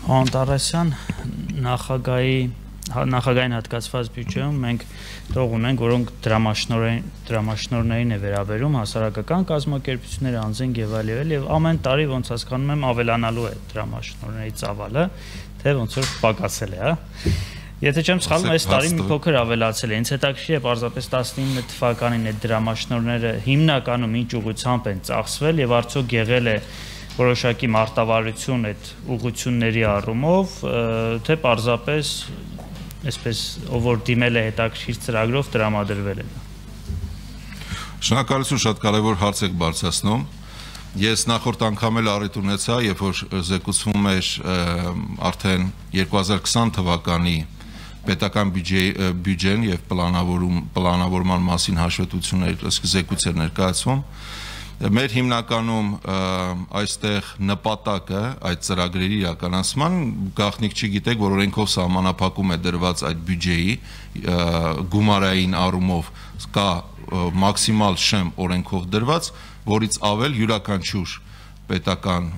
Անտարեսյան նախագահային հատկացված բյուջեում մենք տող ունենք, որոնք դրամաշնորհներին է վերաբերում, հասարակական կազմակերպությունները, անձինք եւ այլ, եւ ամեն տարի ոնց հասկանում եմ ավելանալու է դրամաշնորհների ծավալը, թե ոնց որ պակասել է, հա։ Եթե չեմ սխալվում, այս տարի մի փոքր ավելացել է։ Ինձ հետաքրքիր է պարզապես 19 թվականին այդ դրամաշնորհները հիմնականում ինչ ուղղությամբ են ծախսվել եւ արդյոք եղել է որոշակի մարտավարություն այդ ուղղությունների առումով, թե պարզապես այսպես ով որ դիմել է հետաքրքիր ծրագրով տրամադրվել է։ Շնորհակալություն, շատ կարևոր հարց եք բարձրացնում։ Ես նախորդ անգամ էլ առիթ ունեցա, երբ որ զեկուցվում էր արդեն 2020 թվականի պետական բյուջեն եւ պլանավորման մասին հաշվետվություններ, զեկույց էր ներկայացվում։ Մեր հիմնականում այստեղ նպատակը այդ ծրագրերի իրականացման գաղտնիք չգիտեք, որ օրենքով սահմանափակում է դրված այդ բյուջեի գումարային առումով կա մաքսիմալ շեմ օրենքով դրված, որից ավել յուրաքանչյուր պետական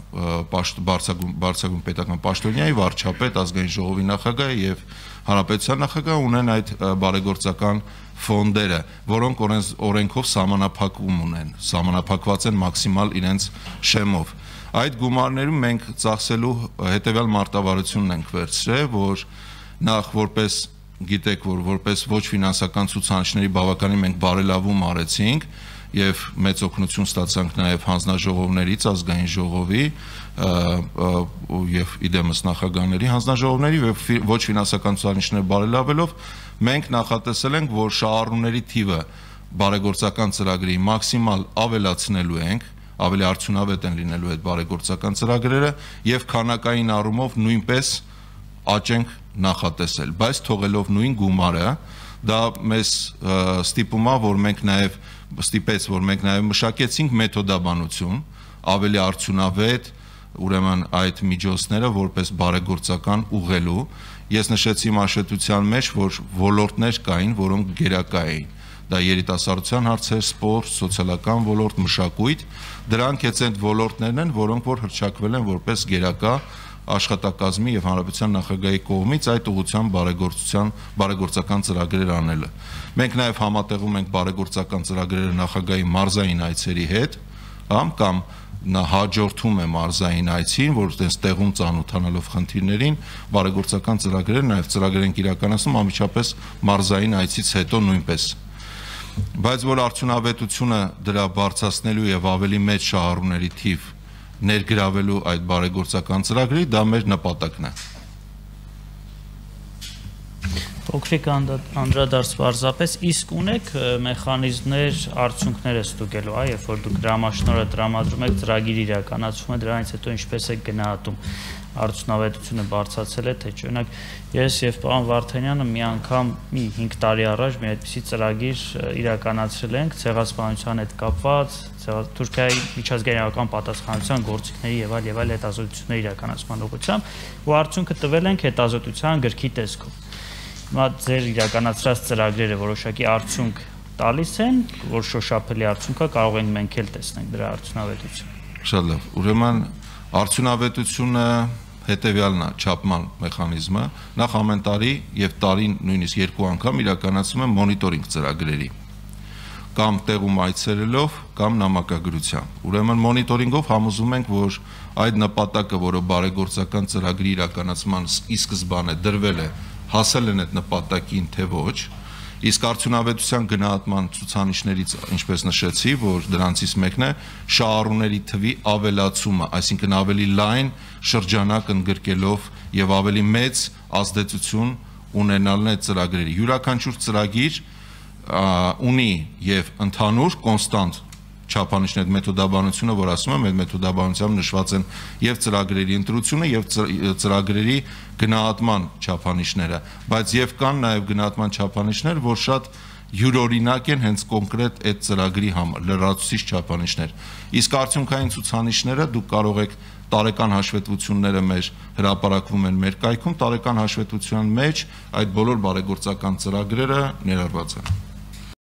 բարձրագույն պետական պաշտոնյայի վարչապետ, ազգային ժողովի նախագահ եւ հանրապետության նախագահ ունեն այդ բարեգործական ֆոնդերը, որոնք օրենքով սահմանափակում ունեն, սահմանափակված են մաքսիմալ իրենց շեմով։ Այդ գումարներում մենք ծախսելու հետեւյալ մարտավարությունն ենք վերցրել, որ նախ որպես գիտեք, որ որպես ոչ ֆինանսական ցուցանիշների բավականին մենք բարելավում արեցինք եւ մեծ օգնություն ստացանք նաեւ հանձնաժողովներից, ազգային ժողովի եւ իդեմս նախագահների հանձնաժողովների եւ ոչ ֆինանսական ցուցանիշներ բարելավելով մենք նախատեսել ենք, որ շահառուների թիվը բարեգործական ծրագրի մաքսիմալ ավելացնելու ենք, ավելի արդյունավետ են լինելու այդ բարեգործական ծրագրերը եւ քանակային առումով նույնպես աճենք նախատեսել, բայց թողելով նույն գումարը, դա մեզ ստիպում է, որ մենք նաեւ մշակեցինք մեթոդաբանություն, ավելի արդյունավետ, ուրեմն այդ միջոցները որպես բարեգործական ուղղելու։ Ես նշեցի մաշետության մեջ, որ ոլորտներ կային, որոնք գերակա էին։ Դա երիտասարդության հարցեր, սպորտ, սոցիալական ոլորտ, մշակույթ, դրանք այդ ոլորտներն են, որոնք որ հռչակվել են որպես գերակա աշխատակազմի եւ հանրապետության նախագահի կողմից այդ ուղղությամբ բարեգործական ծրագրեր անելը։ Մենք նաեւ համատեղում ենք բարեգործական ծրագրերը նախագահի մարզային այցերի հետ, կամ նա հաջորդում է մարզային այցին, որ այդպես տեղում ծանոթանալով խնդիրներին, բարեգործական ծրագրեր նաեւ ծրագրեր են իրականացնում անմիջապես մարզային այցից հետո նույնպես։ Բայց որ արդյունավետությունը դրա բարձրացնելու եւ ավելի մեծ շահառուների թիվ ներգրավելու այդ բարեգործական ծրագրի, դա մեր նպատակն է։ Փոքրիկ անդրադարձ պարզապես, իսկ ունեք մեխանիզմներ արդյունքները ստուգելու, երբ որ դուք դրամաշնորհը տրամադրում եք, ծրագիր իրականացվում է, դրանից հետո ինչպես եք գնահատում, արդյունավետությունը բարձրացել է, թե չէ։ Օրինակ, ես եւ պարոն Վարդանյանը մի անգամ 5 տարի առաջ մի այդպիսի ծրագիր իրականացրել ենք ցեղասպանության հետ կապված, Թուրքիայի միջազգային պատասխանատվության գործիքների եւ այլ հետազոտությունների իրականացման ուղղությամբ, ու արդյունքը տվել ենք հետազոտության գրքի տեսքով։ Հիմա ձեր իրականացրած ծրագրերը որոշակի արդյունք տալիս են, որ շոշափելի արդյունք է, կարող ենք մենք էլ տեսնենք դրա արդյունավետությունը։ Շատ լավ։ Ուրեմն արդյունավետությունը հետեւյալն է, չափման մեխանիզմը, նախ ամեն տարի եւ տարին նույնիսկ 2 անգամ իրականացում են մոնիտորինգ ծրագրերի կամ տեղում այցելելով կամ նամակագրությամբ։ Ուրեմն մոնիտորինգով համոզում ենք, որ այդ նպատակը, որը բարեգործական ծրագրի իրականացման ի սկզբանե դրվել է, հասել են այդ նպատակին, թե ոչ, իսկ արդյունավետության գնահատման ցուցանիշներից, ինչպես նշեցի, որ դրանցից մեկն է շահառուների թվի ավելացումը, այսինքն ավելի լայն շրջանակ ընդգրկելով եւ ավելի մեծ ազդեցություն ունենալն է ծրագրերի։ Յուրաքանչյուր ծրագիր ունի եւ ընդհանուր կոնստանտ չափանիշներ, մեթոդաբանությունը, որ ասում եմ, այդ մեթոդաբանությամբ նշված են եւ ծրագրերի ընտրությունը եւ ծրագրերի գնահատման չափանիշները, բայց եւ կան նաեւ գնահատման չափանիշներ, որ շատ յուրօրինակ են հենց կոնկրետ այդ ծրագրի համար, լրացուցիչ չափանիշներ։ Իսկ արդյունքային ցուցանիշները դուք կարող եք տարեկան հաշվետվությունները մեր հրապարակվում են մեր կայքում, տարեկան հաշվետվության մեջ այդ բոլոր բարեգործական ծրագրերը ներառված են։